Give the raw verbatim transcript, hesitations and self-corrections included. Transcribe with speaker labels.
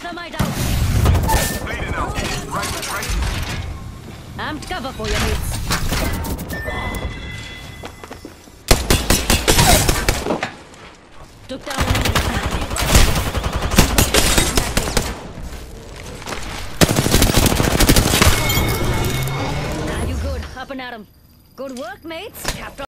Speaker 1: Thermite out.
Speaker 2: Bleeding out. Right, right.
Speaker 1: Amped cover for you, mates. Took down an enemy. Now you good. Up and at 'em. Good work, mates. Captain.